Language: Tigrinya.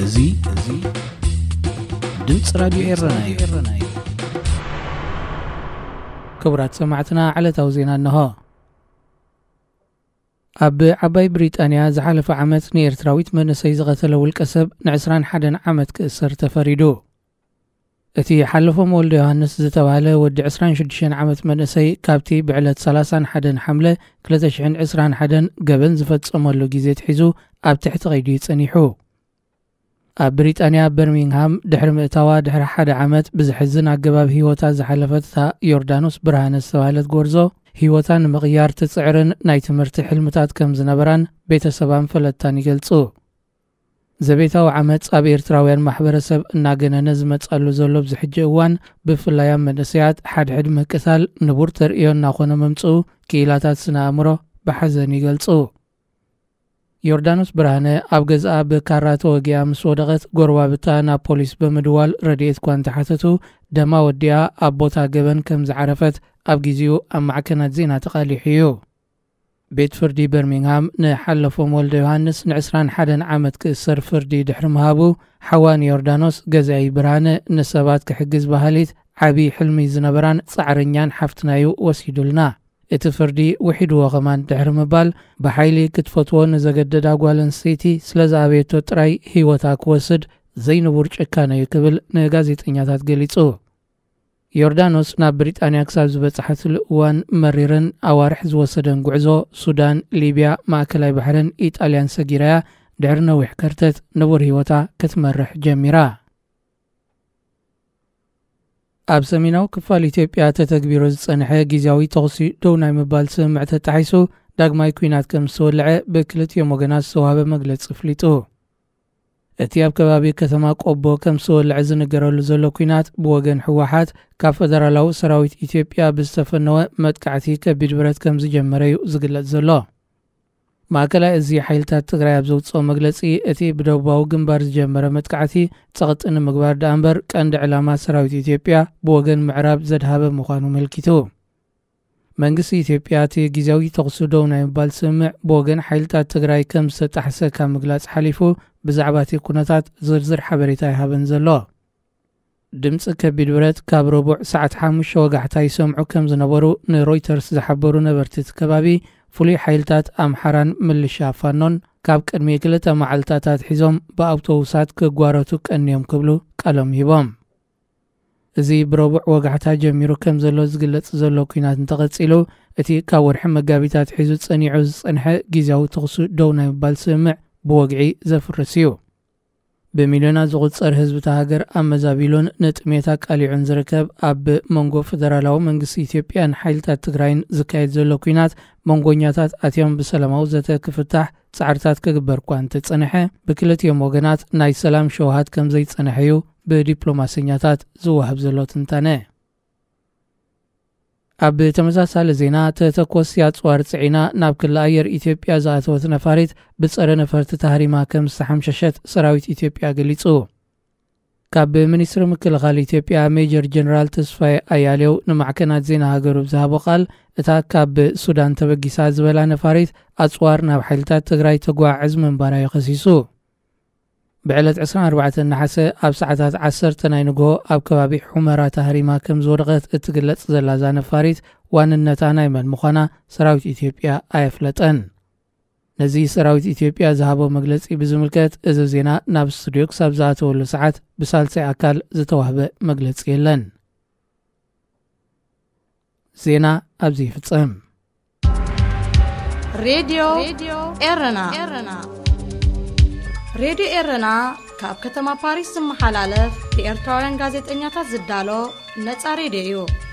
እዚ፣ እዚ ድምፂ ራዲዮ ኤረና እዩ። ክቡራት ሰማዕትና፣ ዕለታዊ ዜና እንሆ። ኣብ ዓባይ ብሪጣንያ ዝሓለፈ ዓመት ንኤርትራዊት መንእሰይ ዝቐተለ ውልቀ ሰብ ን ዕስራን ሓደን ዓመት ክእሰር ተፈሪዱ። እቲ ሓለፎም ወልደ ዮሃንስ ዝተባህለ ወዲ ዕስራን ሽዱሽተን ዓመት መንእሰይ፣ ካብቲ ብዕለት ሰላሳን ሓደን ሓምለ ክልተ ሽሕን ዕስራን ሓደን ገበን ዝፈጸመሉ ግዜ ኣትሒዙ ኣብ ትሕቲ ቀይዲ እዩ ጸኒሑ። ኣብ ብሪጣንያ በርሚንግሃም ድሕሪ ምእታዋ ድሕሪ ሓደ ዓመት ብዘሕዝን ኣገባብ ህይወታ ዝሓለፈት እታ ዮርዳኖስ ብርሃነ ዝተባህለት ጎርዞ፣ ህይወታ ንምቕያር ትጽዕርን ናይ ትምህርቲ ሕልምታት ከም ዝነበራን ቤተሰባን ፈለጥታን ይገልጹ። ዘቤታዊ ዓመጽ ኣብ ኤርትራውያን ማሕበረሰብ እናገነነ ዝመጻሉ ዘሎ ኣብዚ ሕጂ እዋን፣ ብፍላይ ኣብ መንእሰያት ሓድሕድ ምቅታል ንቡር ተርእዮ እናኾነ ምምጽኡ ክኢላታት ስነ ኣእምሮ ብሓዘን ይገልጹ። ዮርዳኖስ ብርሃነ ኣብ ገዝኣ ብካራ ተወጊኣ ምስ ወደቐት፣ ጎረባብታ ናብ ፖሊስ ብምድዋል ረድኤት እኳ እንተሓተቱ፣ ደማ ወዲኣ ኣብ ቦታ ገበን ከም ዝዓረፈት ኣብ ግዜኡ ኣብ ማዕከናት ዜና ተቓሊሑ እዩ። ቤት ፍርዲ በርሚንግሃም ንሓለፎም ወልደ ዮሃንስ ን ዕስራን ሓደን ዓመት ክእሰር ፍርዲ ድሕሪ ምሃቡ፣ ሓዋ ንዮርዳኖስ፣ ገዛኢ ብርሃነ፣ ንሰባት ክሕግዝ በሃሊት ዓቢ ሕልሚ ዝነበራን ጻዕረኛን ሓፍትና'ዩ ወሲዱልና። እቲ ፍርዲ ውሒድዎ ከማን ድሕሪ ምባል፣ ብሓይሊ ክትፈትዎ ንዘገደዳ ጓል ኣንስተይቲ ስለ ዝኣበየቶ ጥራይ ህይወታ ክወስድ ዘይንቡር ጭካነ'ዩ ክብል ንጋዜጠኛታት ገሊጹ። ዮርዳኖስ ናብ ብሪጣንያ ክሳብ ዝበጽሓትሉ እዋን መሪርን ኣዋርሕ ዝወሰደን ጉዕዞ፣ ሱዳን፣ ሊብያ፣ ማእከላይ ባሕርን ኢጣልያን ሰጊራያ ድሕሪ ነዊሕ ከርተት ንቡር ህይወታ ክትመርሕ ጀሚራ። ኣብ ሰሜናዊ ክፋል ኢትዮጵያ ተተግቢሩ ዝጸንሐ ግዝያዊ ተኹሲ ደው ናይ ምባል ስምምዕ ተጣሒሱ ዳግማይ ኲናት ከም ዝተወልዐ ብክልቲኦም ወገናት ዝተዋህበ መግለጺ ኣፍሊጡ። እቲ ኣብ ከባቢ ከተማ ቆቦ ከም ዝተወልዐ ዝንገረሉ ዘሎ ኲናት ብወገን ህወሓት ካብ ፈደራላዊ ሰራዊት ኢትዮጵያ ብዝተፈነወ መጥቃዕቲ ከቢድ ብረት ከም ዝጀመረ እዩ ዝግለጽ ዘሎ። ማእከላይ እዚ ሓይልታት ትግራይ ኣብ ዘውፅኦ መግለፂ፣ እቲ ብደቡባዊ ግንባር ዝጀመረ መጥቃዕቲ ጸቕጢ ንምግባር ደኣ እምበር ቀንዲ ዕላማ ሰራዊት ኢትዮጵያ ብወገን ምዕራብ ዘድሃበ ምዃኑ መልኪቱ። መንግስቲ ኢትዮጵያ እቲ ግዝያዊ ተኹሲ ደው ናይ ምባል ስምምዕ ብወገን ሓይልታት ትግራይ ከም ዝተጣሕሰ ካብ ምግላጽ ሓሊፉ፣ ብዛዕባ እቲ ኩነታት ዝርዝር ሓበሬታ ኣይሃበን ዘሎ። ድምፂ ከቢድ ብረት ካብ ረቡዕ ሰዓት ሓሙሽተ ወጋሕታ ይሰምዑ ከም ዝነበሩ ንሮይተርስ ዝሓበሩ ነበርቲ እቲ ከባቢ፣ ፍሉይ ሓይልታት ኣምሓራን ምልሻ ፋኖን ካብ ቅድሚ ክልተ መዓልታት ኣትሒዞም ብኣውቶቡሳት ክጓረቱ ቀንዮም ክብሉ ቃሎም ሂቦም። እዚ ብረቡዕ ወጋሕታ ጀሚሩ ከም ዘሎ ዝግለጽ ዘሎ ኲናት እንተቐጺሉ፣ እቲ ካብ ወርሒ መጋቢት ኣትሒዙ ጸኒዑ ዝጸንሐ ግዝያዊ ተኹሲ ደው ናይ ምባል ስምምዕ ብወግዒ ዘፍርስ እዩ። ብሚልዮናት ዝቑጸር ህዝቢ እታ ሃገር ኣመዛቢሉን ንጥሜት ኣቃሊዑን ዝርከብ፣ ኣብ መንጎ ፈደራላዊ መንግስቲ ኢትዮጵያን ሓይልታት ትግራይን ዝካየድ ዘሎ ኲናት፣ መንጎኛታት ኣትዮም ብሰላማዊ ዘተ ክፍታሕ ጻዕርታት ክግበር እኳ እንተጸንሐ፣ ብክልቲኦም ወገናት ናይ ሰላም ሸውሃት ከም ዘይጸንሐ እዩ ብዲፕሎማሰኛታት ዝወሃብ ዘሎ ትንታነ። ኣብ ተመሳሳሊ ዜና፣ ተተኮስቲ ኣጽዋር ጽዒና ናብ ክሊ ኣየር ኢትዮጵያ ዝኣተወት ነፋሪት ብጸረ ነፈርቲ ተሃሪማ ከም ዝተሓምሸሸት ሰራዊት ኢትዮጵያ ገሊጹ። ካብ ሚኒስትሪ ምክልኻል ኢትዮጵያ ሜጀር ጀነራል ተስፋዬ ኣያሌው ንማዕከናት ዜና ሃገሩ ብዝሃቦ ቃል፣ እታ ካብ ሱዳን ተበጊሳ ዝበላ ነፋሪት ኣጽዋር ናብ ሓይልታት ትግራይ ተጓዓዕዝ ምንባራ እዩ ከሲሱ። ብዕለት ዕስራን ኣርባዕተን ነሓሰ ኣብ ሰዓታት ዓሰርተ ናይ ንግሆ ኣብ ከባቢ ሑመራ ተሃሪማ ከም ዝወደቐት እትግለጽ ዘላ እዛ ነፋሪት፣ ዋንነታ ናይ መን ምዃና ሰራዊት ኢትዮጵያ ኣየፍለጠን። ነዚ ሰራዊት ኢትዮጵያ ዝሃቦ መግለጺ ብዝምልከት፣ እዚ ዜና ናብ ስቱድዮ ክሳብ ዝኣተወሉ ሰዓት ብሳልሳይ ኣካል ዝተዋህበ መግለጺ የለን። ዜና ኣብዚ ይፍጸም። ሬድዮ ኤረና። ሬድዮ ኤረና ካብ ከተማ ፓሪስ ዝመሓላለፍ ብኤርትራውያን ጋዜጠኛታት ዝዳሎ ነጻ ሬድዮ እዩ።